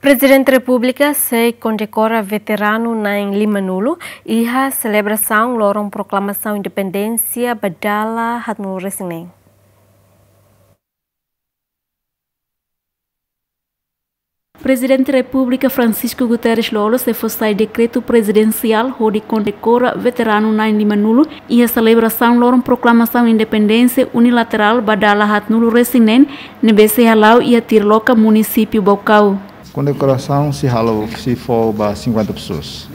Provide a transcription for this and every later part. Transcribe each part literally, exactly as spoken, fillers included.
Prezidente Repúblika sei kondekora veteranu na'in lima-nulu iha selebrasaun loron proklamasaun independénsia ba dala haatnulu resin neen. Prezidente Repúblika Francisco Guterres Lú-Olo sei fó sai dekretu prezidensiál hodi kondekora veteranu na'in lima-nulu iha selebrasaun loron proklamasaun independénsia unilaterál ba dala haatnulu resin neen ne'ebé sei hala'o iha Tirloka, munisípiu Baucau. Kondekorasaun sei halo, sei fó ba cinquenta pessoas.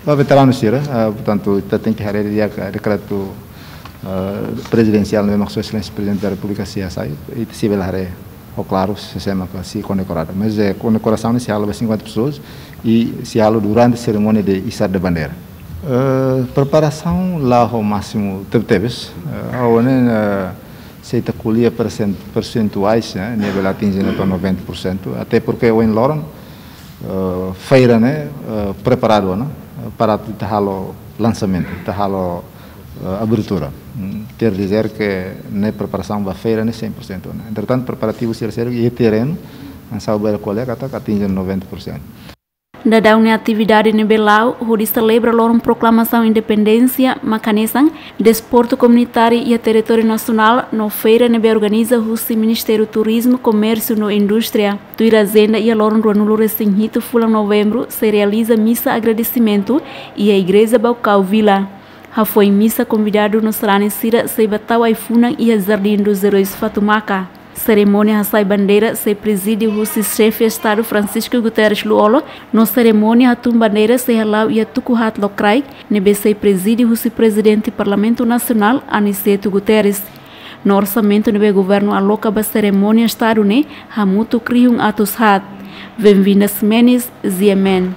Ba veteranu sira, ah, portantu, ita tenke haree di'ak, ah, dekretu, ah, prezidensiál ne'ebé mak Sua Exelénsia Prezidente da Repúblika sei hasai, ita sei bele haree ho klaru sé mak sei kondekoradu. Mas, eh, kondekorasaun ne'e sei halo ba cinquenta pessoas i sei halo durante serimónia de izar de bandeira. Eh, preparasaun la'o ho másimu tebetebes, eh, agora ne'e, eh, se ita ko'alia persen-, persentuais, ne'e, ne'e bele atinje até noventa por cento, até porque ohin loron, eh, feira ne'e, eh, preparadu ona, eh, para ita halo lansamentu, ita halo, eh, abertura. Hmm, quer dizer que ne'e preparasaun ba feira ne'e cem por cento ona. Entretantu, preparativu sira-sira iha terrenu, hanesan ohin bele ko'alia katak atinje noventa por cento. Daudaun ne'e atividade ne'ebé la'o hodi selebra loron proklamasaun independénsia mak hanesan desportu komunitáriu iha territóriu nasionál no feira ne'ebé organiza husi Ministériu Turizmu, Komérsiu no Indústria. Tuir ajenda, iha loron ruanulu resin hitu fulan Novembru sei realiza misa agradesimentu iha Igreja Baucau Vila. Hafoin misa, konvidadu no sarani sira sei ba tau ai-funan iha Jardim dos Heróis Fatumaka. Serimónia hasai bandeira sei prezide husi Xefe Estadu Francisco Guterres Lú-Olo, no serimónia hatun bandeira sei hala'o iha tuku haat lokraik ne'ebé sei prezide husi Prezidente Parlamentu Nasionál, Aniceto Guterres. No orsamentu ne'ebé governu aloka ba serimónia Estadu ne'e hamutuk rihun atus haat. Venvinda Ximenes, G M N.